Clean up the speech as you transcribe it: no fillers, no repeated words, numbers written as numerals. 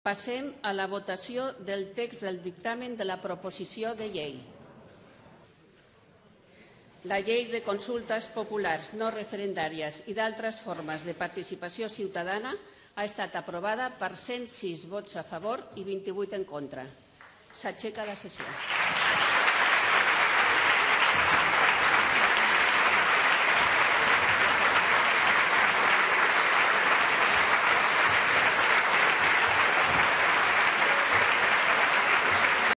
Passem a la votació del text del dictamen de la proposició de llei. La llei de consultes populars no referendàries i d'altres formes de participació ciutadana ha estat aprovada per 106 vots a favor i 28 en contra. S'aixeca la sessió.